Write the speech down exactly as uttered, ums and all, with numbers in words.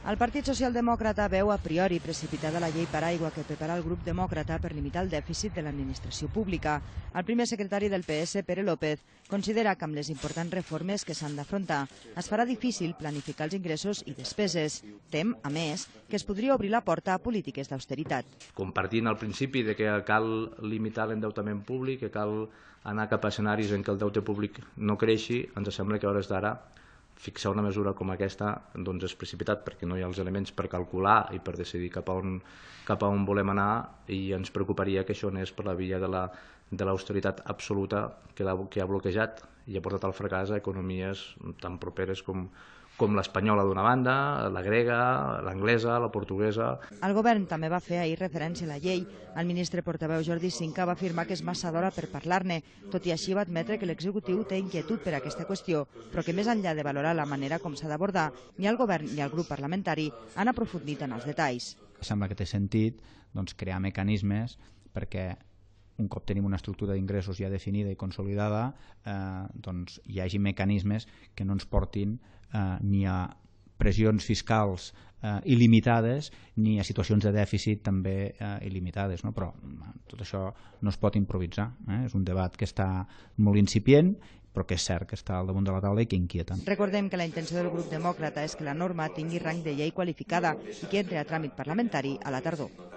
El Partit Socialdemòcrata veu a priori precipitada la llei paraigua que prepara el grup demòcrata per limitar el dèficit de l'administració pública. El primer secretari del P S, Pere López, considera que amb les importants reformes que s'han d'afrontar es farà difícil planificar els ingressos i despeses. Tem, a més, que es podria obrir la porta a polítiques d'austeritat. Compartint el principi de que cal limitar l'endeutament públic, que cal anar cap a escenaris en què el deute públic no creixi, ens sembla que a hores d'ara fixar una mesura com aquesta doncs és precipitat perquè no hi ha els elements per calcular i per decidir cap a on, cap a on volem anar, i ens preocuparia que això anés per la via de la, de l'austeritat absoluta que, la, que ha bloquejat i ha portat al fracàs a economies tan properes com, com l'espanyola d'una banda, la grega, l'anglesa, la portuguesa. El govern també va fer ahir referència a la llei. El ministre portaveu Jordi Sinca va afirmar que és massa d'hora per parlar-ne. Tot i així va admetre que l'executiu té inquietud per aquesta qüestió, però que més enllà de valorar la manera com s'ha d'abordar, ni el govern ni el grup parlamentari han aprofundit en els detalls. Sembla que té sentit doncs, crear mecanismes perquè un cop tenim una estructura d'ingressos ja definida i consolidada, eh, doncs hi hagi mecanismes que no ens portin eh, ni a pressions fiscals eh, il·limitades ni a situacions de dèficit també eh, il·limitades, no? Però tot això no es pot improvisar, eh? És un debat que està molt incipient, però que és cert que està al damunt de la taula i que inquieta. Recordem que la intenció del grup demòcrata és que la norma tingui rang de llei qualificada i que entre a tràmit parlamentari a la tardor.